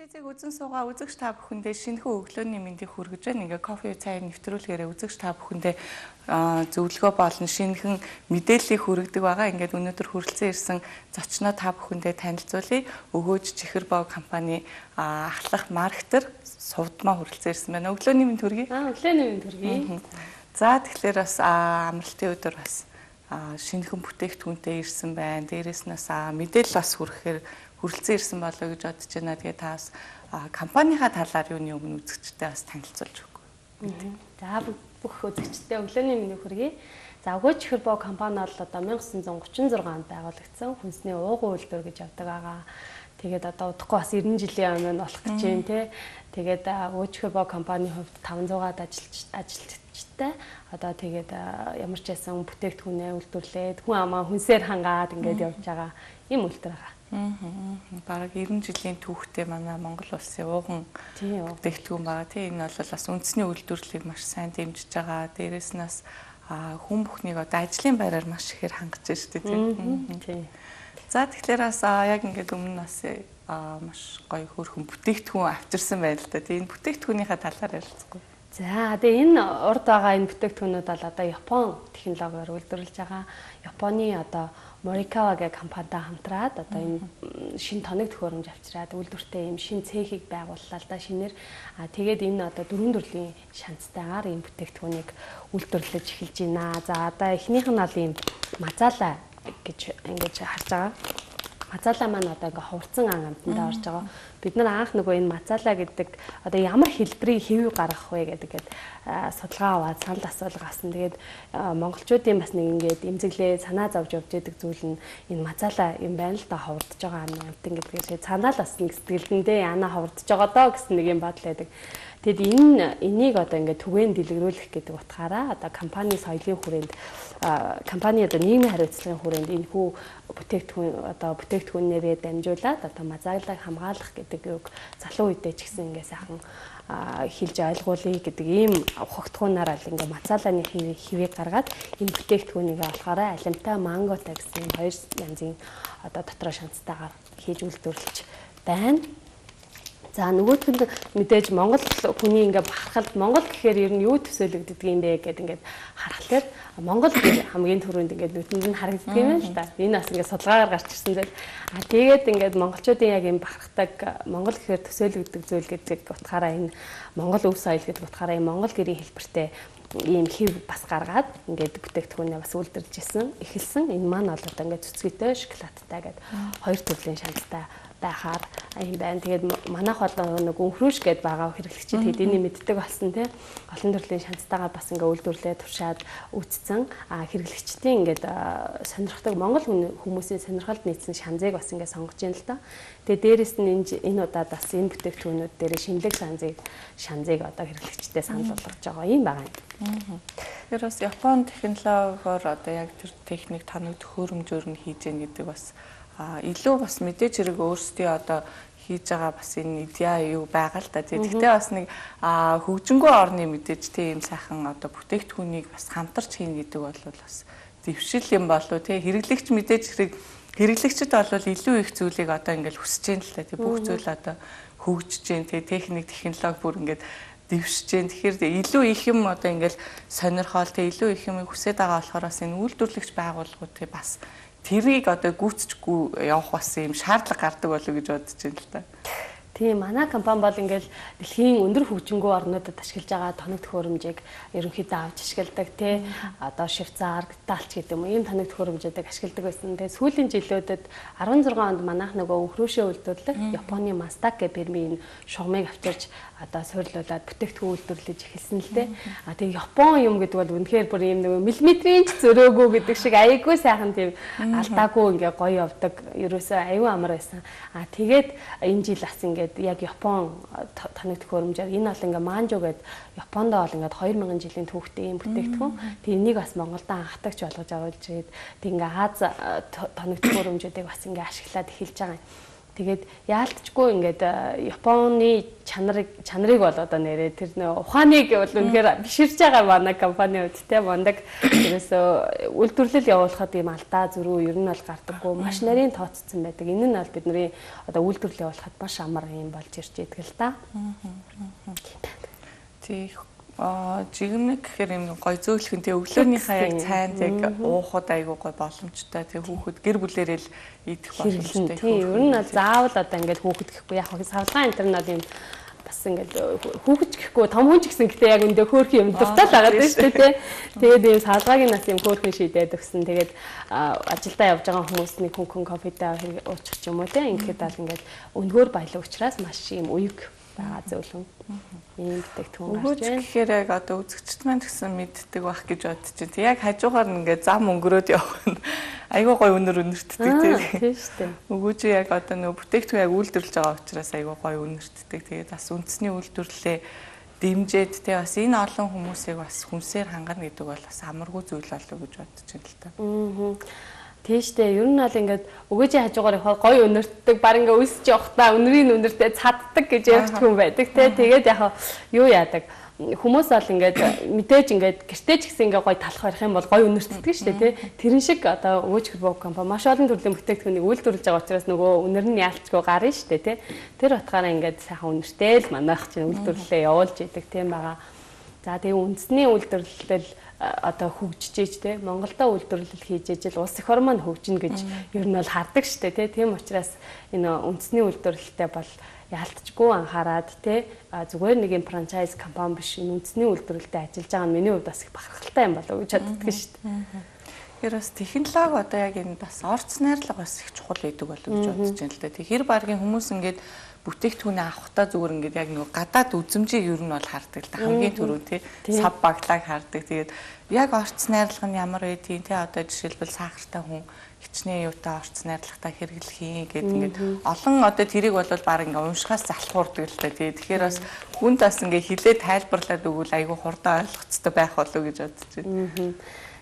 Телевизийг үзэн суугаа үзэгч та бүхэндээ шинэхэн өглөөний мэндийг хүргэж байна. Ингээ кофе цай нэвтрүүлгээрээ үзэгч та бүхэндээ зөвлөгөө болон шинэхэн мэдээллийг хүргэдэг байгаа. Ингээд өнөөдөр хүрэлцэн ирсэн зочноо та бүхэндээ танилцуулъя. Өгөөж Чихэрбоо компани ахлах маркетер Сувдмаа хүрэлцэн ирсэн байна. Өглөөний мэнд хүргэе. Өглөөний мэнд хүргэе. За тэгэхээр бас амралтын өдөр бас шинэхэн бүтээгдэхүүнтэй ирсэн байна. Дээрээс нь мэдээлэл бас хүргэхээр хүрэлцэн ирсэн болоо гэж бодож байна. Тэгээ та бас компанийнхаа талаар юуны өмнө үзэгчтэй бас танилцуулж өгөө. За бүх үзэгчтэй өглөөний мэндийг хүргэе. За Өгөөж Чихэрбоо компани бол одоо 1936 онд байгуулагдсан хүнсний уугуун үйлдвэр гэж явдаг байгаа. Тэгээд одоо удахгүй бас 90 жилийн өмнө болох гэж байна тий. Тэгээд Өгөөж Чихэрбоо компанийн хувьд 500-аад ажилчтай одоо тэгээд ямар ч байсан бүтээгдэхүүнээ үйлдвэрлээд хүн амаа хүнсээр хангаад ингээд явж байгаа юм үйлдвэр байгаа. Бараг 90 жилийн түүхтэй манай Монгол улсын ууган бүтээгдэхүүн байгаа. Тийм энэ бол бас үндэсний үйлдвэрлэлийг маш сайн дэмжиж байгаа. Дээрээс нь бас хүн бүхнийг одоо ажлын байраар маш ихээр хангаж байна шүү дээ. Тийм. За тэгэхээр бас яг ингээд өмнө бас маш гоё хөөрхөн бүтээгдэхүүн авчирсан байна л да. Тийм бүтээгдэхүүнийхээ талаар ярилцгагүй. За тэгээ энэ урд байгаа энэ бүтээгдэхүүнүүд бол одоо Япон технологиор үйлдвэрлэж байгаа. Японы одоо Morikawa гэх компанитай хамтраад одоо энэ шинэ тоног төхөөрөмж авчираад үйлдвэртэй юм шинэ цехийг байгууллаа л да шинээр. Тэгээд энэ одоо дөрвөн төрлийн шанцтайгаар энэ бүтээгдэхүүнийг үйлдвэрлэж эхэлж байна. За одоо эхнийх нь бол ийм мазала гэж ингэж харж байгаа. Мазала маань одоо ингээ хувцсан амтанд орж байгаа. Бид нар анх нөгөө энэ мазала гэдэг одоо ямар хэлбэрийг хэвүү гаргах вэ гэдэг судалгаа аваад санал асуулга авсан. Тэгээд монголчуудын бас нэг ингээд эмзэглээ санаа зовж явж идэг зүйл нь энэ мазала юм байна л да хурдж байгаа амт ингээд санаа л бас нэг сэтгэлдэндээ яна хурдж байгаа доо гэсэн нэг юм бодол байдаг. Тэгэд энийг одоо ингээд түгээн дэлгэрүүлэх гэдэг утгаараа одоо компани соёлын хүрээнд компани одоо нийгмийн хариуцлагын хүрээнд энэ хүү бүтээгдэхүүнээрээ дамжуулаад одоо мазаалыг хамгаалах гэдэг үг залуу үедээ ч гэсэн ингээд сайхан хэлж ойлгуулъя гэдэг ийм ухагтхуунаар л ингээд мазааланы хэвийг гаргаад энэ бүтээгдэхүүнийг болохоор алимтай манготой гэсэн хоёр янзын одоо дотроо шанцтайгаар хийж үйлдвэрлэж байна. За нөгөөдгөнд мэдээж Монгол хүний ингээ бахархалд Монгол гэхээр ер нь юу төсөөлөгддөг юм бэ гэдэг ингээд харахад Монгол хамгийн түрүүнд ингээд нүдэнд нь харагддаг юм байна л да. Энэ бас ингээд судалгаагаар гарч ирсэн зүйл. Тэгээд ингээд монголчуудын яг юм бахархдаг Монгол гэхээр төсөөлөгддөг зүйл гэдэг утгаараа энэ Монгол өв соёл гэдэг утгаараа энэ Монгол гэрийн хэлбэртэй ийм хэв бас гаргаад ингээд бүтээгдэхүүнээ бас үйлдвэрлэж эхэлсэн. Энэ маань бол одоо ингээд цэцгийтэй шоколадтай гэдэг хоёр төрлийн шанцтай байхаар юм байна. Тэгээд манайх бол нэг өнхрөөш гэдээ байгаа хэрэглэгчид хэдийний мэддэг болсон тий. Олон төрлийн шанцтайгаар бас ингээ үйлдвэрлээ туршаад үүсцэн хэрэглэгчдийн ингээд сонирхдаг Монгол хүмүүсийн сонирхолд нийцсэн шанзыг бас ингээ сонгож байна л да. Тэгээд дээрэс нь энэ удаад бас энэ бүтээгдэхүүнүүд дээр шинэлэг шанзыг одоо хэрэглэгчдэд санал болгож байгаа юм байна. Тэр бас Япон технологиор одоо яг тэр техник тоног төхөөрөмжөөр нь хийж гэн гэдэг бас илүү бас мэдээж хэрэг өөрсдөө одоо хийж байгаа бас энэ идеа юу байгаа л да. Тэгэхдээ бас нэг хөгжингөө орны мэдээж тийм сайхан одоо бүтээгдэхүүнийг бас хамтарч хийн гэдэг бол бас дэвшил юм болов тий. Хэрэглэгч мэдээж хэрэг хэрэглэгчд бол илүү их зүйлийг одоо ингээл хүсэж байна л да. Тий бүх зүйл одоо хөгжиж जैन тий техник технологи бүр ингээд дэвшиж जैन. Тэгэхээр илүү их юм одоо ингээл сонирхол тий илүү их юм хүсэж байгаа болохоор бас энэ үйлдвэрлэгч байгууллагууд тий бас тэрийг одоо гүйцэтгэхгүй явах бас юм шаардлага гардаг болов гэж бодож байна л да. Тийм манай компани бол ингээл дэлхийн өндөр хөгжингөө орнуудад ашиглаж байгаа тоног төхөөрөмжийг ерөнхийдөө авч ашигладаг тий. Одоо Швейцар, Италич гэдэг юм ийм тоног төхөөрөмжүүдийг ашигладаг байсан. Тэгээ сүүлийн жилүүдэд 16 онд манайх нөгөө өнхрөөшөө үйлдвэрлэх Японы Мастак гэх фирмийн шугамыг авчирч одоо суйрлуулад бүтээгдэхүүн үйлдвэрлэж эхэлсэн л дээ. Тэгээ Япон юм гэдэг бол үнэхээр бүр ийм нэг миллиметрийн ч зөрөөгөө гэдэг шиг аяйгүй сайхан тийм алдаагүй ингээ гоё явдаг. Ерөөсөө аюу амар байсан. Тэгээд энэ жил бас ингээ ингээд яг Япон танигдах хөрөмжээр энэ бол ингээд манжо гэдэг Японд бол ингээд 2000 жилийн түүхтэй юм бүтээгдэхүүн. Тэг энийг бас Монголд анхдагч болгож оруулж ирээд тэг ингээд Аз танигдах хөрөмжүүдийг бас ингээд ашиглаад эхэлж байгаа юм. Тэгээд яалтчгүй ингээд Японы чанарыг бол одоо нэрээ тэр ухааныг бол үнэхээр биширж байгаа манай компани үдтэй мондаг ерөөсөө үйлдвэрлэл явуулахад ийм алдаа зөрүү ер нь бол гардаггүй маш нарийн тооцсон байдаг. Энэ нь бол бидний одоо үйлдвэрлэл явуулахад маш амар юм болж ирж идэг л да. Тэг жигмэг гэхээр юм гой зөөлхөн тэг өглөөнийхөө яг цайнд яг уухад айгуу гой боломжтой тэг хүүхэд гэр бүлээрээ л идэх боломжтой. Тийм ер нь заавал одоо ингээд хүүхэд гэхгүй яг савлгаан интернет юм бас ингээд хүүхэд гэхгүй том хүн ч гэсэн гэтээ яг өндөө хөөрхөн юм дуртай л байгаа дээ шүү дээ. Тэгээд ийм савлгаагийн нас юм хөөрхөн шийдээд өгсөн. Тэгээд ажилдаа явж байгаа хүмүүс нэг хүн кофетэй уучих ч юм уу те ингээд бол ингээд өнгөөр баялаг учраас маш юм уйг байгаа зөвлөн. Ийм бүтээгдэхүүн гарч байна. Тэгэхээр яг одоо үзэгчд маань гэсэн мэддэг байх гэж бодож байна. Яг хажуугаар ингээд зам өнгөрөөд явах нь айгүй гой өнөртдөг тийм шүү дээ. Өгөөж яг одоо нөгөө бүтээгдэхүүн яг үйлдвэрлэж байгаа учраас айгүй гой өнөртдөг. Тэгээд бас үндэсний үйлдвэрлэлээ дэмжиж тэ бас энэ олон хүмүүсийг бас хүнсээр хангана гэдэг бол бас амаргүй зүйл болов уу гэж бодож байна л та. Тийштэй ер нь бол ингээд өгөөжийн хажуугаар явахаар гоё өнөртдөг баг ингээд өсөж явахдаа өнөрийн өнөртөө цаддаг гэж ярьдаг хүн байдаг те. Тэгээд яг юу яадаг хүмүүс бол ингээд мэдээж ингээд гэртээ ч гэсэн ингээд гоё талах барих юм бол гоё өнөртдөг шүү дээ те. Тэрэн шиг одоо өгөөж хэрбог компани маш олон төрлийн бүтээгдэхүүнийг үйлдвэрлэж байгаа учраас нөгөө өнөр нь яалтчгүй гарна шүү дээ те. Тэр утгаараа ингээд сайхан өнөртэй л манайх чинь үйлдвэрлэлээ явуулж идэг тийм байгаа. За тэгээ үндэсний үйлдвэрлэл одоо хөгжиж те Монголда үйлдвэрлэл хийж ижил улс эх орн маань хөгжинэ гэж ер нь бол хардаг штэ те тийм учраас энэ үндэсний үйлдвэрлэлтэй бол яалтчгүй анхаарад те зүгээр нэг юм франчайз компани биш үндэсний үйлдвэрлэлтэй ажиллаж байгаа нь миний хувьд бас их бахархалтай юм болов уу гэж боддог штэ. Тэгэхээр бас технологи одоо яг энэ бас орц найрлага бас их чухал байдаг болов гэж бодож байна л да. Тэгэхээр багийн хүмүүс ингээд бүтээгдэхүүнээ авахтаа зүгээр ингээд яг нэг гадаад үзмжийг ер нь бол хардаг л да. Хамгийн түрүү тий сав баглааг хардаг. Тэгээд яг орц найрлага нь ямар байдгийг тий одоо жишээлбэл сахартай хүн хичнээн юутай орц найрлагатай хэрэглэх юм гэдэг ингээд олон одоо тэрийг бол баг ингээд уншихаас залхуурдаг л да. Тэгэхээр бас хүнд бас ингээд хилээ тайлбарлаад өгвөл айгүй хурдан ойлгоцтой байх болов гэж бодож байна.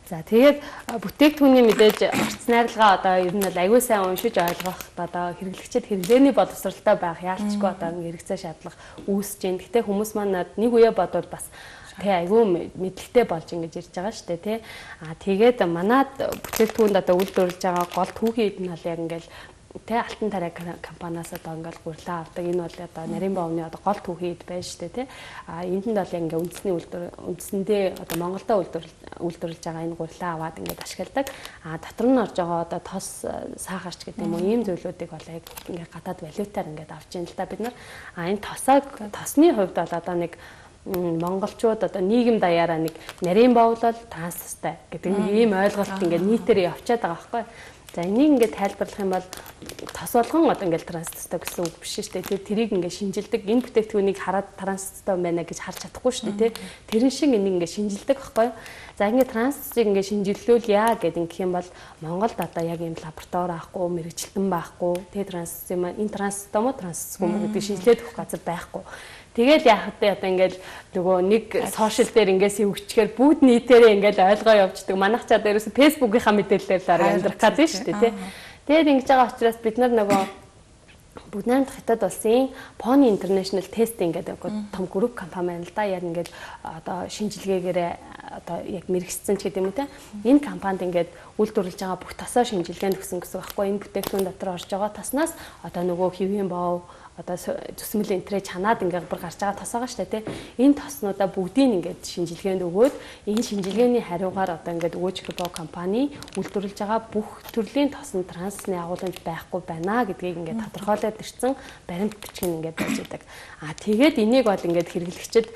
За тэгээд бүтээгдэхүүний мэдээж орц найрлагаа одоо ер нь бол аягүй сайн уншиж ойлгох одоо хэрэглэгчид хэрэглээний боловсралтай байх яалтчгүй одоо хэрэгцээ шаардлага үүсэж байна. Гэтэ хүмүүс манад нэг үе бодвол бас тэг аягүй мэдлэгтэй болж ингэж ирж байгаа шүү дээ тий. Тэгээд манад бүтээгдэхүүнд одоо үйлдвэрлэж байгаа гол түүхийд нь бол яг ингээл тэ алтан тарай компаниас одоо ингээл гурлаа авдаг. Энэ бол одоо нарийн бовны одоо гол түүхийд байна шүү дээ тий. Энд нь бол яг ингээ үндсэндээ одоо Монголда үйлдвэрлэж байгаа энэ гурлаа аваад ингээд ашигладаг. Дотор нь орж байгаа одоо тос сахарч гэдэг юм уу ийм зүйлүүдийг бол яг ингээ гадаад валютаар ингээд авч ийн л та бид нар. Энэ тосны хувьд бол одоо нэг монголчууд одоо нийгэм даяараа нэг нарийн бовлол транстай гэдэг ийм ойлголт ингээд нийтээр явчихад байгаа байхгүй. За энийг ингээд тайлбарлах юм бол тос болгон одоо ингээд транстай гэсэн үг биш шүү дээ. Тэрийг ингээд шинжилдэг. Энэ бүтээгдэхүүнийг хараад транстай байна гэж харж чадахгүй шүү дээ. Тэрэн шиг энийг ингээд шинжилдэг байхгүй. За ингээд трансыг ингээд шинжилүүлвэл яа гэдэг ингэх юм бол Монголд одоо яг ийм лаборатори байхгүй, мэрэгчлэн байхгүй. Тэгээ транс юм энэ транстай мó трансгүй мó гэдэг шинжилээд өгөх газар байхгүй. Тэгэл яахад одоо ингээд нөгөө нэг сошиал дээр ингээд сэвгчгээр бүгд нийтээрээ ингээд ойлгоо явуулдаг. Манайх ч одоо ерөөсө фэйсбүүкийнхаа мэдээлэлээр л амьдрах гэдэг шүү дээ тий. Тэгээд ингэж байгаа учраас бид нар нөгөө бүгд найрамдах хятад улсын Pony International Testing гэдэг том групп компани байна л да. Яг ингээд одоо шинжилгээгээрээ одоо яг мэрэгссэн ч гэдэг юм уу те. Энэ компанид ингээд үйлдвэрлэж байгаа бүх тосоо шинжилгээнд өгсөн гэсэн байхгүй. Энэ бүтээгдэхүүн дотор орж байгаа тоснаас одоо нөгөө хэвийн бов одоо зүсмэл энтрээ чанаад ингээд бүр гарч байгаа тос байгаа шүү дээ тий. Энэ тоснуудаа бүгдийг ингээд шинжилгээнд өгөөд энэ шинжилгээний хариугаар одоо ингээд өгөөж хэрбоо компани үйлдвэрлэж байгаа бүх төрлийн тосон трансны агуулмж байхгүй байна гэдгийг ингээд тодорхойлоод ирсэн баримт бичиг ингээд байж байгаа. Тэгээд энийг бол ингээд хэрэглэгчид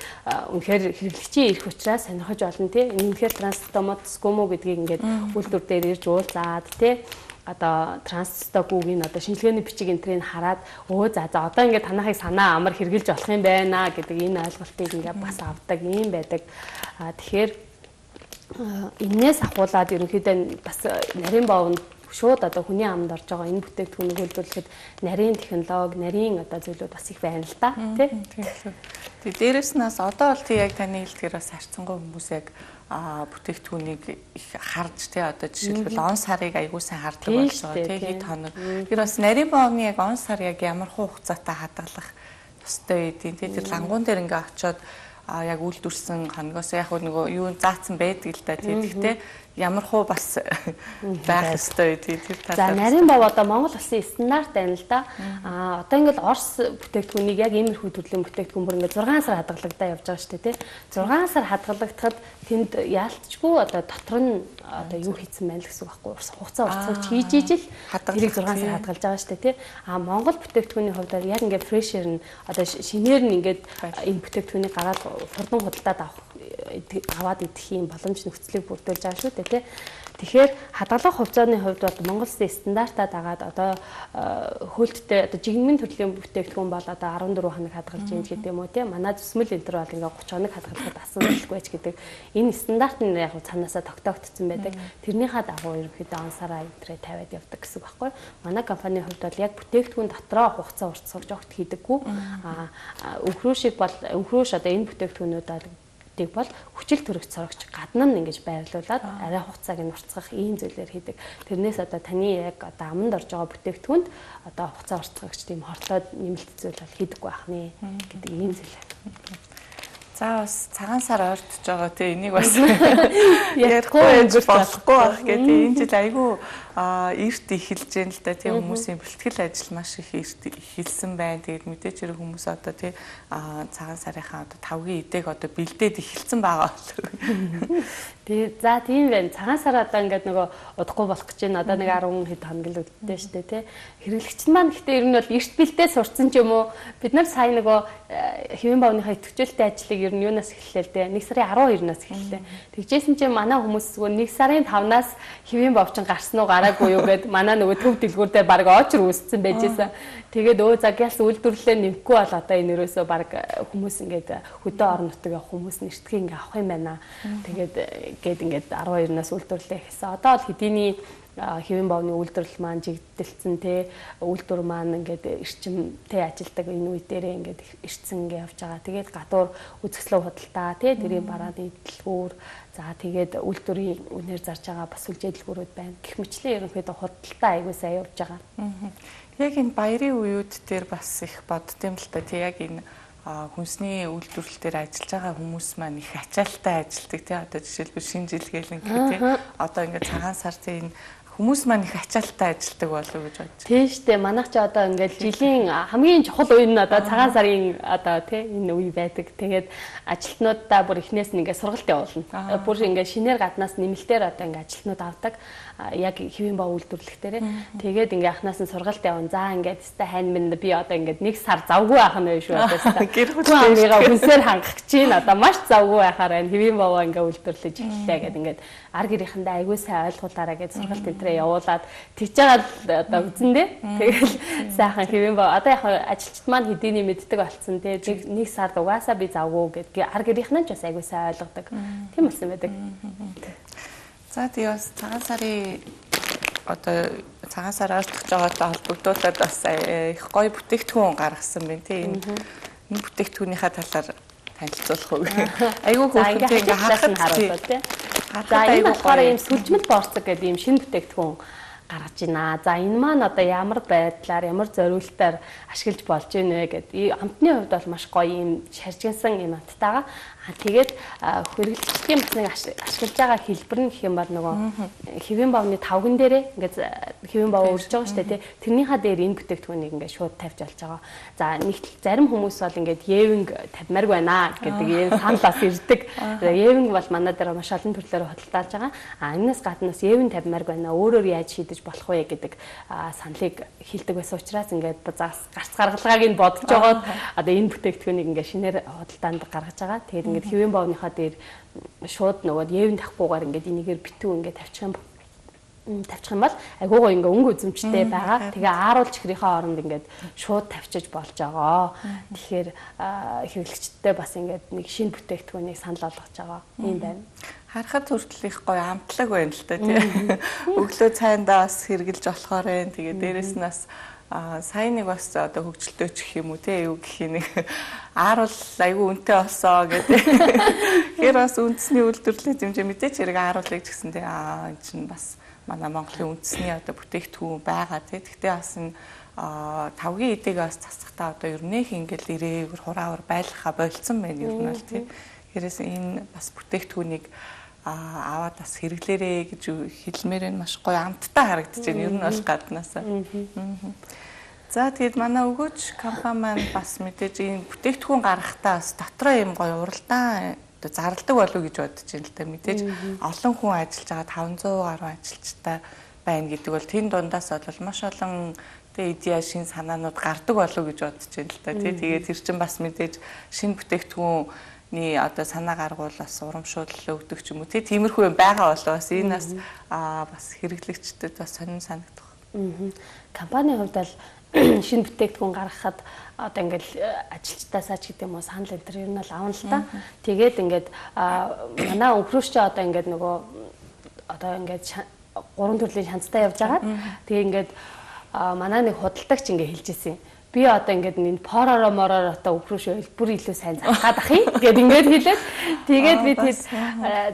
үнэхээр хэрэглэгчийн эрх учраас сонирхож олно тий. Энэ үнэхээр транстомодсгүй мүү гэдгийг ингээд үйлдвэр дээр ирж уулзаад тий. Одоо трансстокугийн одоо шинжилгээний бичиг энтрийг хараад за одоо ингээд танахыг санаа амар хэрглэж болох юм байна гэдэг энэ ойлголтыг ингээд бас авдаг юм байдаг. Тэгэхээр энээс ахуулаад ерөнхийдөө бас нарийн бовнд шууд одоо хүний амд орж байгаа энэ бүтээгдэхүүнийг үйлдвэрлэхэд нарийн технологи, нарийн одоо зүйлүүд бас их байна л да тий. Тэгээ дээрэс нь бас одоо бол тий яг таны хэлдгээр бас харьцангуй хүмүүс яг бүтээгдэхүүнийг их харж тий одоо жишээлбэл он сарыг аягүй сайн хардаг боллоо тий хэд хоног. Тэр бас нарийн боогны яг он сар яг ямар хугацаатай хадгалах ёстой байдیں۔ Тий тэр лангуун дээр ингээ очиод яг үйлдвэрсэн хоногоос яг нөгөө юу заасан байдаг л да тий. Гэхдээ ямар хуу бас байх ёстой тий тэр За талаар. нарийн бов одоо Монгол улсын стандарт байна л да. Одоо ингээл Орос бүтээгдэхүүнийг яг иймэрхүү төрлийн бүтээгдэхүүн бүр ингээд 6 сар хадгалагдаа явж байгаа шүү дээ тий. 6 сар хадгалагдахад тэнд яалтчгүй одоо дотор нь одоо юу хийсэн байна л гэсэн үг байхгүй. Хугацаа уртцаж хийж ижил тэрийг 6 сар хадгалж байгаа шүү дээ тий. Монгол бүтээгдэхүүний хувьд яг ингээд фрешэр нь одоо шинээр нь ингээд энэ бүтээгдэхүүнийг гараад хурдан худалдаад аваад идэх юм боломж нөхцөлийг бүрдүүлж байгаа шүү дээ тий. Тэгэхээр хадгалах хувьцааны хувьд бол Монгол Улсын стандартаа дагаад одоо хөөлттэй одоо жигмийн төрлийн бүтээгдэхүүн бол одоо 14 хоног хадгалж ийм гэдэг юм уу тий. Манай зүсмэл энэ төр бол ингээ 30 хоног хадгалахад асуудалгүй ч гэдэг энэ стандарт нь яг цаанаасаа тогтоогдсон байдаг. Тэрнийхээ дагуу ерөнхийдөө он сараа энтрээ тавиад явдаг гэсэн үг байхгүй. Манай компанийн хувьд бол яг бүтээгдэхүүн дотроо хугацаа уртсгаж огт хийдэггүй. Өвхрөөшиг бол өвхрөөш одоо энэ бүтээгдэхүүнүүд бол хүчил төрөгч сорогч гадна нь ингэж байрлуулад арай хугацааг нь уртсгах ийм зүйлээр хийдэг. Тэрнээс одоо таны яг одоо аманд орж байгаа бүтээгдэхүүнд одоо хугацаа уртсгагч тийм хортлоод нэмэлт зүйл бол хийдэггүй байх нэ гэдэг ийм зүйл. За бас цагаан сар ойртож байгаа тий энийг бас ярихгүй болохгүй байх гэдэг. Энэ жил айгүй эрт эхэлж байна л да тий хүмүүсийн бэлтгэл ажил маш их эрт эхэлсэн байна. Тэгээд мэдээч хэрэг хүмүүс одоо тий цагаан сарынхаа одоо тавгийн идэг одоо бэлдээд эхэлсэн байгаа болов. Тэгээд за тийм байна. Цагаан сар одоо ингээд нөгөө удахгүй болох гэж байна. Одоо нэг 10 хэд хоног л үүдтэй шүү дээ тий. Хэрэглэгч маань гэхдээ ер нь бол эрт бэлдээ сурцсан ч юм уу. Бид нар сая нөгөө хэвэн бовныхаа идэвхжүүлэлтийн ажлыг ер нь юунаас эхэллээ л дээ. 1 сарын 12-наас эхэллээ. Тэгжсэн чинь манай хүмүүс зүгээр 1 сарын 5-наас хэвэн бовчин гарсан уу гараагүй юу гэд манай нөгөө төв дэлгүүрдээ баг очр үүссэн байжсэн. Тэгээд за гялс үйлдвэрлэлээ нэмэхгүй бол одоо энэ өрөөсөө баг хүмүүс ингээд хөдөө орон нутгийн хүмүүс нэртгийг ингээд авах юм байна. Тэгээд ингээд 12-наас үйлдвэрлэлээ хийсэн. Одоо бол хэдийний хэвэн бовны үйлдвэрлэл маань жигдэлцэн те үйлдвэр маань ингээд эрчимтэй ажилдаг энэ үе дээрээ ингээд ирцэн ингээд явж байгаа. Тэгээд гадуур үзэсгэлэн худалдаа те тэрийн барааны дэлгүүр за тэгээд үйлдвэрийн үнээр зарж байгаа бас сүлжээ дэлгүүрүүд байна. Гэх мэтлэн ерөнхийдөө худалдаа аягүй сайн явж байгаа. Яг энэ баярын үеуд дээр бас их боддсон л та тий яг энэ хүнсний үйлдвэрлэл дээр ажиллаж байгаа хүмүүс маань их ачаалттай ажилладаг тий одоо жишээлбэл шинэ жил гээл ингээд тий одоо ингээд цагаан сар тий энэ хүмүүс маань их ачаалттай ажилладаг болов уу гэж бодож. Тийм шүү дээ. Манайх ч одоо ингээд жилийн хамгийн чухал үе нь одоо цагаан сарын одоо тий энэ үе байдаг. Тэгээд ажилтнуудаа бүр эхнээс нь ингээд сургалт явуулна. Бүр ингээд шинээр гаднаас нэмэлтээр одоо ингээд ажилтнууд авдаг. Яг хэвэн боо үйлдвэрлэх дээрээ. Тэгээд ингээ анханаас нь сургалт явна. За ингээд өстэй хайн минь би одоо ингээд 1 сар завгүй байх нь байх шүү одоо. Гэр бүлийнхээ хүнсээр хангах гэж байна. Одоо маш завгүй байхаар байна. Хэвэн боо ингээ үйлдвэрлэж эхэллээ гэдэг ингээд ар гэрийнхэндээ аягүй сайн ойлгуулаараа гэж сургалт өдрөө явуулаад тэгж байгаа одоо үзнэ. Тэгэл сайхан хэвэн боо одоо яг ажилчид маань хэдийний мэддэг болсон те. 1 сард угаасаа би завгүй гэдэг ар гэрийнхэн ч бас аягүй сайн ойлгодог. Тийм болсон байдаг. За тэгээ бас цагаан сарын одоо цагаан сар айлтгаж байгаатай холбогдуулаад бас их гоё бүтээгдэхүүн гаргасан байна тийм энэ бүтээгдэхүүнийхээ талаар танилцуулах уу. Айгүй хөөрхөнтэй ингээ харахад харуулдаг тийм. За энэ болохоор ийм сүлжмэл борцог гэдэг ийм шинэ бүтээгдэхүүн гаргаж байна. За энэ маань одоо ямар байдлаар ямар зориултаар ашиглаж болж байна вэ гэдэг. Амтны хувьд бол маш гоё ийм шаржигнсан юм амттайгаа. Тэгээд хэрэглэгчдийн бас нэг ашиглаж байгаа хэлбэр нь гэх юм бол нөгөө хэвэн бовны тавган дээрээ ингээд хэвэн бов өрж байгаа шүү дээ тий. Тэрнийхаа дээр энэ бүтээгдэхүүнийг ингээд шууд тавьж болж байгаа. За нэг зарим хүмүүс бол ингээд евинг тавьмаар байна гэдэг ийм саналаас ирдэг. Евинг бол манай дээр маш олон төрлөөр хөдөлтаалж байгаа. Энэс гаднаас евинг тавьмаар байна. Өөрөөр яаж шийдэж болох вэ гэдэг саналыг хэлдэг байсан учраас ингээд гарц гаргалгааг нь бодож байгаа. Одоо энэ бүтээгдэхүүнийг ингээд шинээр хөдөлтаанд гаргаж байгаа. Тэгээд ингээд хэвэн бовныхаа дээр шууд нөгөө евэн тахгүйгээр ингээд энийгээр битүү ингээд тавьчих юм. тавьчих юм бол айгуугаа ингээ өнгө үзэмжтэй байгаа. Тэгээ ааруулж ихрийнхээ оронд ингээд шууд тавьчих болж байгаа. Тэгэхээр хэрэглэгчдтэй бас ингээд нэг шинэ бүтээгдэхүүнийг санал болгож байгаа юм байна. Харахад хүртэл их гоё амтлаг байна л та тий. Өглөө цайндаа бас хэрэгжилж болохоор энэ тэгээ дээрэс нь бас сайн нэг бас одоо хөгжилтэй ч гэх юм уу тий юу гэх нэг ааруул айгүй үнэтэй болсоо гэдэг. Тэгэхээр бас үндэсний үйлдвэрлэлийн хэмжээ мэдээч хэрэг ааруулыг ч гэсэн тий энэ чинь бас манай Монголын үндэсний одоо бүтээгдэхүүн байгаа тий. Гэхдээ бас энэ тавгийн эдэг бас засахтаа одоо ер нь ингээл ирээвэр хураавар байлгахаа болцсон байна ер нь бол тий. Хэрэгээс энэ бас бүтээгдэхүүнийг аваад бас хэрэглээрээ гэж хэлмээр нь маш гоё амттай харагдаж байна. Ер нь бол гаднаасаа. За тэгээд манай өгөөч компани маань бас мэдээж энэ бүтээгдэхүүн гаргахтаа бас дотроо юм гоё уралдаан зарладаг болов уу гэж бодож байна л да. Мэдээж олон хүн ажиллаж байгаа 500 гаруй ажилчтай байна гэдэг бол тэн дундаас бол маш олон идея шин санаанууд гардаг болов уу гэж бодож байна л да. Тэгээд тэр чинь бас мэдээж шинэ бүтээгдэхүүн одоо санаа гаргуул бас урамшуулал өгдөг ч юм уу тиймэрхүү юм байгаа болоо бас энэ бас хэрэглэгчдэд бас сонин санагдах. Компанийн хувьд бол шинэ бүтээгдэхүүн гаргахад одоо ингээл ажилчдаасаа ч гэдэг юм уу санал энэ төр ер нь бол авна л та. Тэгээд ингээд манай өнхрөөч одоо ингээд нөгөө одоо ингээд 3 төрлийн шанцтай явж байгаа. Тэгээ ингээд манай нэг худалдагч ингээд хэлж ирсэн. Би одоо ингээд энэ поророо мороор одоо өгрөөш бүр илүү сайн зархаад ах юм. Тэгээд ингээд хэлээд тэгээд би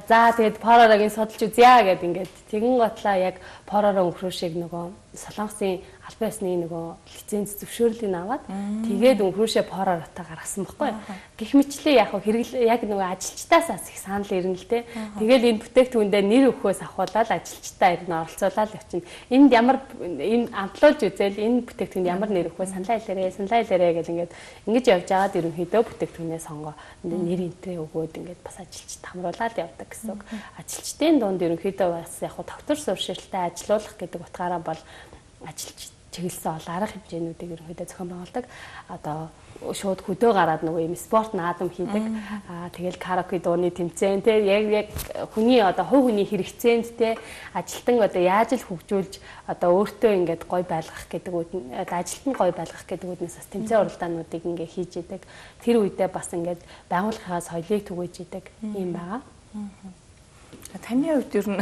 за тэгээд поророгийн судалж үзье гэд ингээд тэгэн готлаа яг поророо өгрөөшийг нөгөө Солонгосын албан ёсны нөгөө лиценз зөвшөөрлийг аваад тэгээд өнхрөөшөө поророотой гаргасан байхгүй. Гэх мэтлээ яг яг нөгөө ажилчдаас их санал ирнэ л те. Тэгээд энэ бүтээгдэхүүндээ нэр өгөхөөс ахуулаад ажилчдаа ирнэ оролцуулаад явчихна. Энд ямар энэ амтлуулж үзэл энэ бүтээгдэхүүнд ямар нэр өгөхөө саналаа илэрээ гэл ингээд ингэж явж байгаад ерөнхийдөө бүтээгдэхүүнээ сонгоо нэр энтрээ өгөөд ингээд бас ажилчид хамруулаад явдаг гэсэн үг. Ажилчдын дунд ерөнхийдөө бас яг тогтвор суурьшилтай ажилуулах гэдэг утгаараа бол ажилч чиглэсэн ол арга хэмжээнүүдийг ерөнхийдөө зохион байгуулдаг. Одоо шууд хөдөө гараад нөгөө юм спорт наадам хийдэг. Тэгэл караоке дууны тэмцээн те яг хүний одоо хувь хүний хэрэгцээнд те ажилтан одоо яаж л хөгжүүлж одоо өөртөө ингээд гой байлгах гэдэг үүд нь ажилтан гой байлгах гэдэг үүднээс бас тэмцээн уралдаануудыг ингээд хийж идэг. Тэр үедээ бас ингээд байгууллагынхаа соёлыг түгээж идэг юм байгаа. Таны хувьд ер нь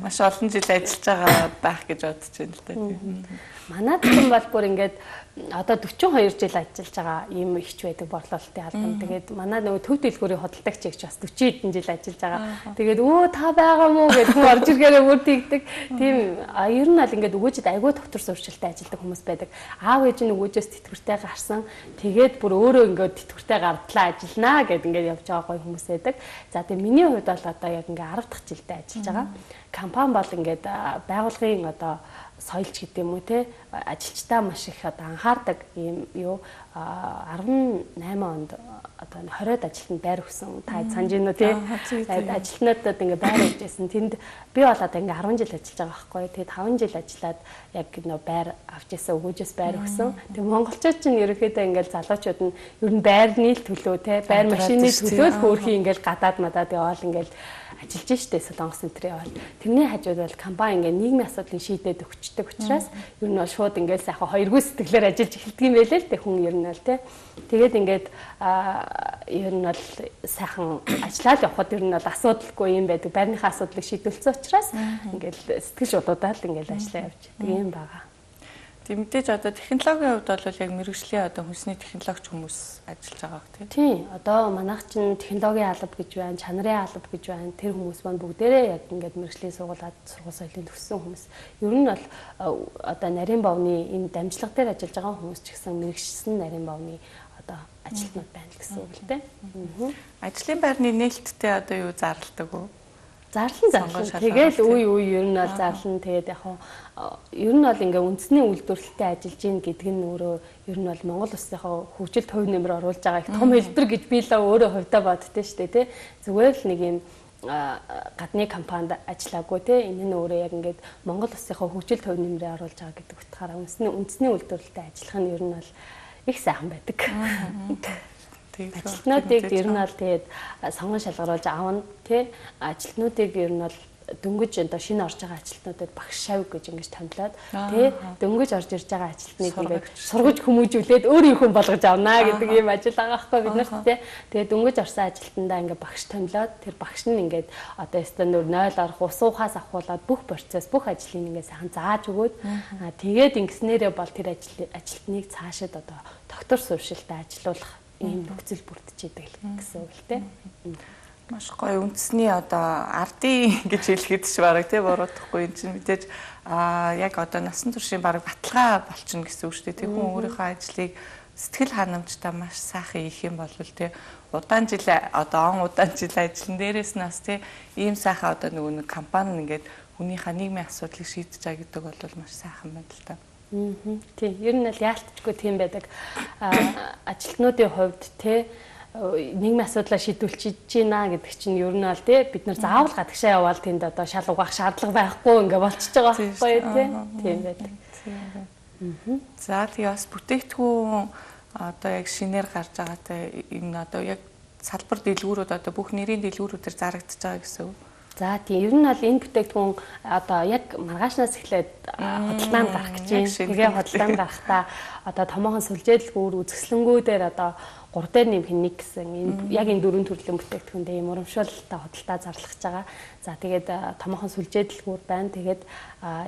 маш олон жил ажиллаж байгаа байх гэж бодож байна л да. Манайд ч бол бүр ингээд одоо 42 жил ажиллаж байгаа ийм ихч байдаг борлуулалтын албан. Тэгээд манай нөгөө төв дэлгүүрийн худалдагч гэж бас 40 хэдэн жил ажиллаж байгаа. Тэгээд та байгаа мó гэж орж иргээрээ бүр тэгдэг. Тийм ер нь бол ингээд өгөөжид айгүй доктор сурчлалтай ажилладаг хүмүүс байдаг. Аав ээж нь өгөөжөөс тэтгэвртэй гарсан. Тэгээд бүр өөрөө ингээд тэтгэвртэй гардлаа ажилланаа гэд ингээд явж байгаа гоё хүмүүс байдаг. За тэгээд миний хувьд бол одоо яг ингээд 10 дахь жилдээ ажиллаж байгаа. Компани бол ингээд байгууллагын одоо соёлч гэдэг юм уу те ажилчдаа маш их одоо анхаардаг юм юу 18 онд одоо 20-од ажилтнанд байр өгсөн та санаж байна уу те ажилтнуудад ингээ байр өгчээсэн тэнд би бол одоо ингээ 10 жил ажиллаж байгаа байхгүй тэгээд 5 жил ажиллаад яг нөө байр авч ирсэн өгөөжөөс байр өгсөн тэгээд монголчууд чинь ерөөхдөө ингээл залуучууд нь ер нь байрны төлөө те байр машины төлөө л хөөрхий ингээл гадаад мадаад яваал ингээл ажиллаж штэ Солонгос энтрээ бол тэрний хажууд бол компани ингээ нийгмийн асуудлыг шийдээд өгчдөг учраас ер нь бол шууд ингээл сайхан хоёргүй сэтгэлээр ажиллаж эхэлдэг юм байлээ л те хүн ер нь бол те тэгээд ингээд ер нь бол сайхан ажиллаад явхад ер нь бол асуудалгүй юм байдаг байрныхаа асуудлыг шийдвэлцсэн учраас ингээл сэтгэл шуудуудаад ингээл ажиллаа явж байдаг юм байгаа. Тийм мэдээж одоо технологийн хувьд бол яг мэрэгжлийн одоо хүнсний технологич хүмүүс ажиллаж байгаа гэх тийм. Одоо манайх чинь технологийн алба гэж байна, чанарын алба гэж байна. Тэр хүмүүс маань бүгдээрээ яг ингээд мэрэгжлийн сургуулиуд сургууль соёлын төгссөн хүмүүс. Ер нь бол одоо нарийн бовны энэ дамжлага дээр ажиллаж байгаа хүмүүс ч гэсэн мэрэгчсэн нарийн бовны одоо ажилтнууд байна гэсэн үг л дээ. Ажлын байрны нээлттэй одоо юу зарладаг уу? Зарлан. Тэгэл үе ер нь бол зарлан. Тэгээд яг ер нь бол ингээ үндэсний үйлдвэрлэлтэй ажиллаж гин гэдэг нь өөрөө ер нь бол Монгол улсынхаа хөгжилд хувь нэмэр оруулж байгаа их том хэлбэр гэж би л өөрөө хувьдаа боддөө штэ тий. Зүгээр л нэг юм гадны компанид ажиллаагүй тий. Энэ нь өөрөө яг ингээд Монгол улсынхаа хөгжилд хувь нэмрээ оруулж байгаа гэдэг утгаараа үндэсний үйлдвэрлэлтэй ажиллах нь ер нь бол их сайхан байдаг. Ажилтнуудыг ер нь бол тэгээд сонгон шалгаруулж аавна тий. Ажилтнуудыг ер нь бол дөнгөж одоо шинэ орж байгаа ажилтнуудад багш шавь гэж ингэж томилоод тий дөнгөж орж ирж байгаа ажилтныг ингээд сургаж хүмүүжүүлээд өөрийн хүн болгож авнаа гэдэг ийм ажил байгаа байхгүй бид нарт тий. Тэгээд дөнгөж орсон ажилтнаа ингээд багш томилоод тэр багш нь ингээд одоо стандарт 0 орох ус уухаас ахуулаад бүх процесс бүх ажлыг ингээд сайхан зааж өгөөд тэгээд ингэснээрээ бол тэр ажилтныг цаашид одоо доктор сууршилтад ажилуулах ийм нөхцөл бүрдчихэд гэсэн үг л тий. Маш гоё үндэсний одоо ардын гэж хэлэхэд ч бараг тий буруудахгүй энэ чинь мэдээж яг одоо насан туршийн бараг баталгаа болчихно гэсэн үг шүү дээ. Тэг хүн өөрийнхөө ажлыг сэтгэл ханамжтай маш сайхан хийх юм бол тий удаан жил одоо удаан жил ажиллан дээрээс нь бас тий ийм сайхан одоо нөгөө нэг компани ингээд хүнийхээ нийгмийн асуудлыг шийдэж байгаа гэдэг бол маш сайхан байна л та. Тийм ер нь л яалтчгүй тийм байдаг. Ажилтнуудын хувьд тий нийгмийн асуудлаа шийдвүүлчихэж байна гэдэг чинь ер нь бол тий бид нар заавал гадагшаа явбал тэнд одоо шал угаах шаардлага байхгүй ингээ болчихж байгаа байхгүй тий тийм байдаг. За тэгээ бас бүтээгдэхүүн одоо яг шинээр гарч байгаатай энэ одоо яг салбар дэлгүүрүүд одоо бүх нэрийн дэлгүүрүүдээр зарагдчихж байгаа гэсэн үг. За тийм ер нь бол энэ бүтээгдэхүүн одоо яг маргаашнаас эхлээд худалдаанд гарах гэж байна. Тэгээ худалдаанд гарахдаа одоо томоохон сүлжээдэлгүүр үзэсгэлэнгүүдээр одоо 3 дээр нэмэх нэг гэсэн энэ яг энэ 4 төрлийн бүтээгдэхүүндээ юм урамшуулалтаа худалдаа зарлахж байгаа. За тэгээд томоохон сүлжээдэлгүүр байна. Тэгээд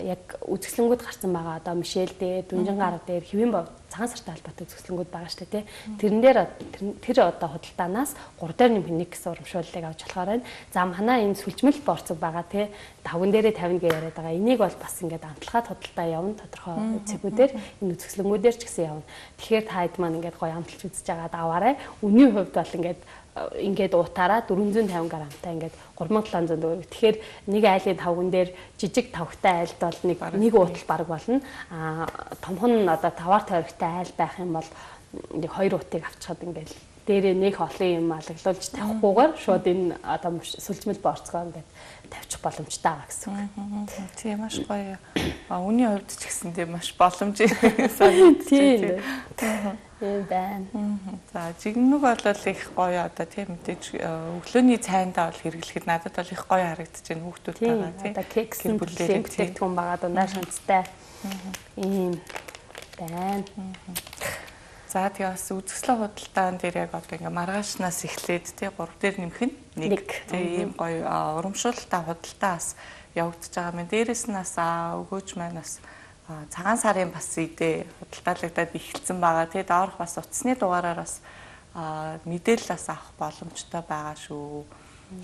яг үзэсгэлэнгүүд гарсан байгаа одоо Мишель дээр, Дүнжин гар дээр хэвэн бов цагаан сартай холбоотой үзэсгэлэнгүүд байгаа шүү дээ. Тэрэн дээр тэр одоо худалдаанаас 3 дээр нэмэх нэг гэсэн урамшууллыг авч болохоор байна. За манай энэ сүлжмэл борцог байгаа тий 5 дээрээ 50 гэж яриад байгаа. Энийг бол бас ингээд амтлагаад худалдаа явна тодорхой цэгүүдээр энэ үзэсгэлэнгүүдээр ч гэсэн явна. Тэгэхээр та хэд маань ингээд гоё амталж үзэж байгаа даваарай. Үнийн хувьд бол ингээд утаараа 450 грамтай ингээд 3700 төгрөг. Тэгэхээр нэг айлын тавган дээр жижиг тавхтай айлд бол нэг уутал баг болно. Томхон одоо таваар тойрогтой айл байх юм бол нэг 2 уутыг авчихад ингээд дээрээ нэг олон юм алаглуулж тавихгүйгээр шууд энэ одоо сүлжмэл борцгоо ингээд тавьчих боломжтой байгаа гэсэн үг. Тийм маш гоё. Үний хувьд ч гэсэн тийм маш боломжтой санагдчих. Тийм байна. За жигнэг бол их гоё одоо тийм мэдээж өглөөний цайндаа бол хэрэглэхэд надад бол их гоё харагдаж байна хүүхдүүд байгаа тийм. Одоо кексэн бүлээн бүтээгдэхүүн байгаа дундаа шанцтай. Ийм байна. За тэгээ бас үзэсгэлэн худалдаан дээр яг одоо ингээ маргаашнаас эхлээд тий 3 дээр нэмэх нь нэг тий ийм гоё урамшуулалтаа худалдаас явагдаж байгаа юм. Дээрээс нь бас өгөөж маань бас цагаан сарын бас идэ худалдаалагдаад эхэлсэн байгаа. Тий доорх бас утасны дугаараар бас мэдээлэл бас авах боломжтой байгаа шүү.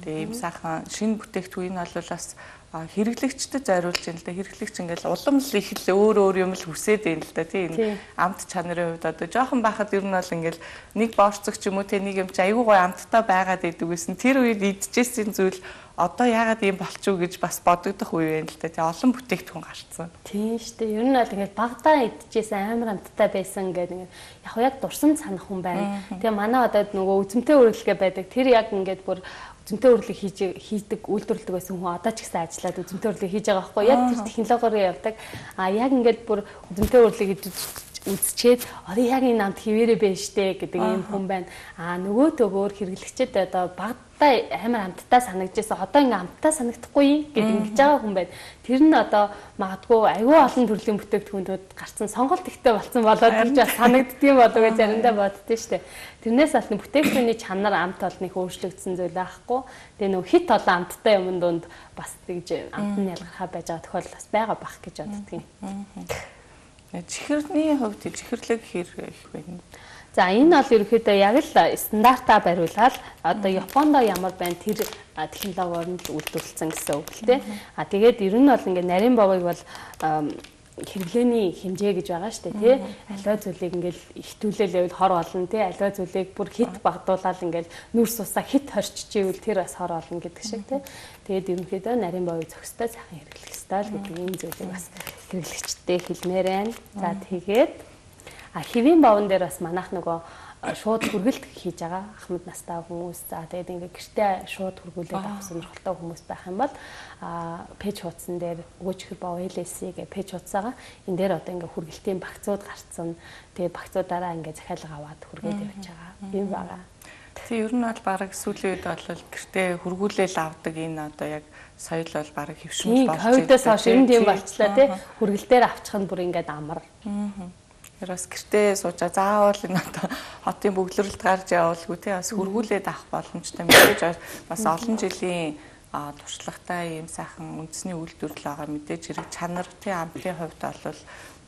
Тэгээ ийм сайхан шинэ бүтээгдэхүүн нь бол бас хэрэглэгчдэд зориулж байна л да. Хэрэглэгч ингээл улам л их л өөр юм л хүсээд байна л да. Тийм амт чанарын хувьд одоо жоохон байхад ер нь бол ингээл нэг борцог ч юм уу те нэг юм чи айгүй гой амттай байгаад идэг гэсэн. Тэр үед идчихсэн зүйл одоо яагаад ийм болчихв гэж бас бодогдох үе байна л да. Тэгээ олон бүтээгдэхүүн гарцсан. Тийм шүү дээ. Ер нь бол ингээд багадаа идчихсэн амар амттай байсан гэдэг ингээд яг дурсан санах хүн байна. Тэгээ манай одоо нөгөө үзэмтэй үргэлгээ байдаг. Тэр яг ингээд бүр үзэмтэй үрлэг хийдэг үйлдвэрлэдэг байсан хүн одоо ч гэсэн ажиллаад үзэмтэй үрлэг хийж байгаа байхгүй яг тэр технологиор явдаг яг ингээд бүр үзэмтэй үрлэг үзчихэд одоо яг энэ намд хിവэрэ байна штэ гэдэг юм хүн байна нөгөө төгөөр хэрэглэгчэд одоо багтаа амар амттай санагдажсэн одоо ингээ амттай санагдахгүй гэдэг ингэж байгаа хүн байна тэр нь одоо магадгүй аюу олон төрлийн бүтээгдэхүүнүүд гарцсан сонголт ихтэй болсон болоод гэж бас санагддгийм болов гэж заримдаа боддөө штэ тэрнээс аль бүтээгдэхүүний чанар амт олныг өөрчлөгдсөн зүйл байхгүй тэгээ нөгөө хит олон амттай юмн донд бас тэгж амт нь ялгархаа байж байгаа тохиолдол бас байгаа бах гэж боддгийг чихэрний хувьд чихэрлэг хэр их байна. За энэ бол ерөөхдөө яг л стандартаа бариулаад одоо Японд ямар байна тэр технологиор нь үйлдвэрлэсэн гэсэн үг л дээ. Тэгээд ер нь бол ингээд нарийн бовыг бол хэрэглээний хэмжээ гэж байгаа шүү дээ тий. Аливаа зүйлийг ингээл ихтүүлэлэвэл хор болно тий. Аливаа зүйлийг бүр хит багдуулаад ингээл нүрс усаа хит хорччихвэл тэр бас хор болно гэдэг шиг тий. Тэгээд ерөнхийдөө нарийн бовыг зохистой сайхан хэрэглэх ёстой л гэдэг ийм зүйлийг бас хэрэглэгчтэй хэлмээр байна. За тэгээд хэвийн бовн дээр бас манайх нөгөө шууд хүргэлт хийж байгаа ахмад настай хүмүүс за тэгээд ингээ гэртээ шууд хүргүүлээд авах сонирхолтой хүмүүс байх юм бол пэйж хуудсан дээр өгөөчхөр бов LSC гэх пэйж хуудсаага энэ дээр одоо ингээ хүргэлтийн багцууд гарцсан тэгээд багцуудаараа ингээ захиалга аваад хүргээд явж байгаа юм байгаа. Тэг ер нь бол баг сүүлийн үед бол гэртээ хургуулэл авдаг энэ одоо яг соёл бол баг хөвшмөл болж байна. Ковидоос хойш энэ тийм болчлаа тий. Хүргэлтээр авчих нь бүр ингээд амар. Ярас гэртээ суужаа заавал энэ одоо хотын бөглөрөлд гарч явуулгүй тий бас хургуулээд авах боломжтой мэдээж бас олон жилийн туршлагатай ийм сайхан үндэсний үйлдвэрлэл байгаа мэдээж хэрэг чанар тий амтны хувьд бол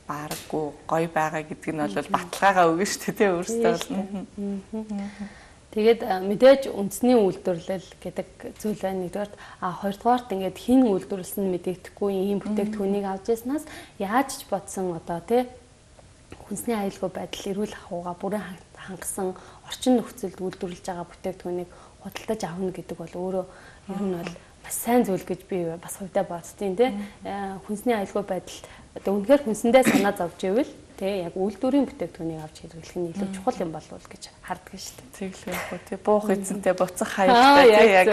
баараггүй гоё байгаа гэдг нь бол баталгаагаа өгнө шүү дээ тий өөрөөсөө. Тэгээд мэдээж үндэсний үйлдвэрлэл гэдэг зүйл байна. Нэгдүгээр хоёрдугаарт ингээд хин үйлдвэрлэсэн мэдэгдэхгүй ийм бүтээгдэхүүнийг авч яснаас яаж ч бодсон одоо тий хүнсний аюулгүй байдал эрүүл ахуйгаа бүрэн хангасан орчин нөхцөлд үйлдвэрлэж байгаа бүтээгдэхүүнийг худалдаж авна гэдэг бол өөрөө ер нь бол бас сайн зүйл гэж би бас хувьдаа боддtiin тий. Хүнсний аюулгүй байдал одоо үнэхээр хүнсэндээ санаа зовж ивэл тий яг үйлдвэрийн бүтээгдэхүүнийг авч хэрэглэх нь илүү чухал юм болов уу гэж харддаг шүү дээ. Тэглэхгүй тий буух эзэнтэй буцах хаягтай тий яг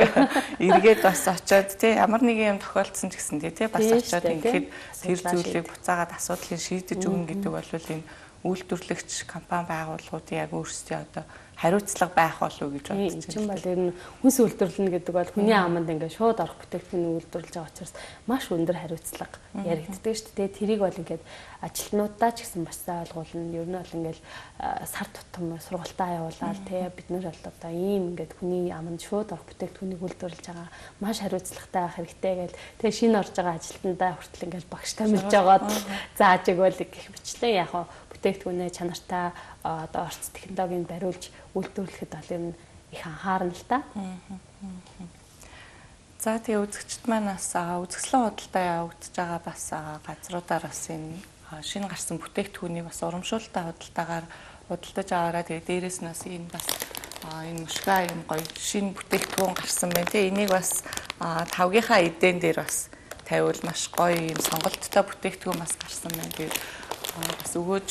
эргээд бас очиод тий ямар нэгэн юм тохиолдсон ч гэсэн тий бас очиод ингээд тэр зүйлийг буцаагаад асуудлыг шийдэж өгнө гэдэг бол энэ үйлдвэрлэгч компани байгууллагуудын яг өөрсдийн одоо хариуцлага байх болов уу гэж бодож байна. Тийм бол ер нь хүнс үйлдвэрлэнэ гэдэг бол хүний аманд ингээд шууд орох бүтээгдэхүүнийг үйлдвэрлэж байгаа учраас маш өндөр хариуцлага яригддаг шүү дээ. Тэрийг бол ингээд ажилтнуудаа ч гэсэн бас ойлгуулна. Ер нь бол ингээд сар тутам сургалтаа явуулаад тий бид нар бол одоо ийм ингээд хүний аманд шууд орох бүтээгдэхүүнийг үйлдвэрлэж байгаа маш хариуцлагатай байх хэрэгтэй гэж тий шинэ орж байгаа ажилтнуудаа хүртэл ингээд багш тамилж байгаад зааж өгөөл гэх мэтлээ яг бүтээгдэхүүнээ чанартай одоо орц технологийн бариулж үйлдвэрлэхэд бол ер нь их анхаарна л та. За тэгээ үзэгчд маань бас үзэсгэлэн худалдаа явагдаж байгаа бас газруудаар бас энэ шинэ гарсан бүтээгдэхүүнийг бас урамшуулалтаа худалдаагаар худалдаж аваараа тэгээ дээрээс нь бас энэ бас энэ мушга юм гоё шинэ бүтээгдэхүүн гарсан байна. Тэгээ энийг бас тавгийнхаа эдэн дээр бас тавиул маш гоё юм сонголттой бүтээгдэхүүн бас гарсан байна. Тэгээд бас өгөөж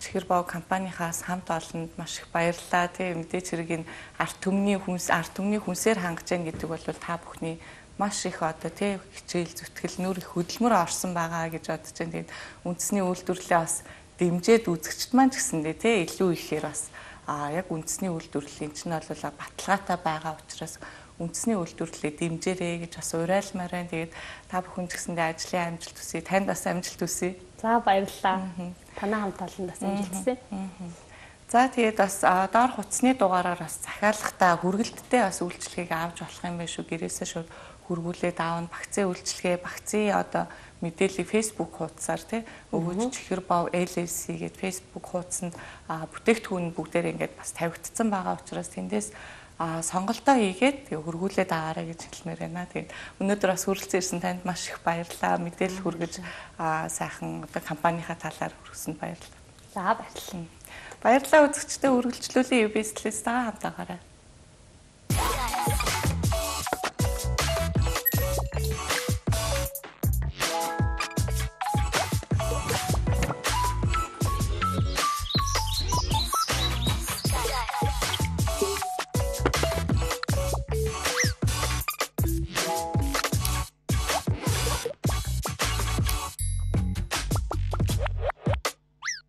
Чихэр боо компанийнхаас хамт олонд маш их баярлалаа. Тэ мэдээж хэрэг энэ арт түмний хүнсээр хангаж гэн гэдэг бол та бүхний маш их одоо тэ хичээл зүтгэл нүр их хөдөлмөр орсон байгаа гэж бодож байна. Тэгээд үндэсний үйлдвэрлэлээ бас дэмжиж үзэгчд маань ч гэсэндээ тэ илүү ихээр бас яг үндэсний үйлдвэрлэлийн чинь бол баталгаатай байгаа учраас үндэсний үйлдвэрлэлээ дэмжээрэй гэж бас уриалмаар байна. Тэгээд та бүхэн ч гэсэндээ ажлын амжилт хүсье. Танд бас амжилт хүсье. За баярлалаа. Танай хамт олонд бас амжилт хүсье. За тэгээд бас доор хуцсны дугаараар бас захиалгатаа хүргэлттэй бас үйлчлэгийг авч болох юм байна шүү. Гэрээсээ шууд хургуулээд аавна багцын үйлчлэгээ, багцын одоо мэдээллийг Facebook хуудасаар тий өгөөж Чихэр боо LLC гэдэг Facebook хуудсанд бүтээгдэхүүн бүгдээр ингээд бас тавигдсан байгаа учраас тэндээс сонголтоо хийгээд хөргүүлээд аваарай гэж хэлмээр байна. Тэгээд өнөөдөр бас хүрэлцэн ирсэн танд маш их баярлалаа. Мэдээлэл хүргэж сайхан одоо компанийнхаа талаар хүргэсэнд баярлалаа. За баярлалаа. Баярлалаа үзэгчдээ үргэлжлүүлэн UBS-лээс хамтаагаарай.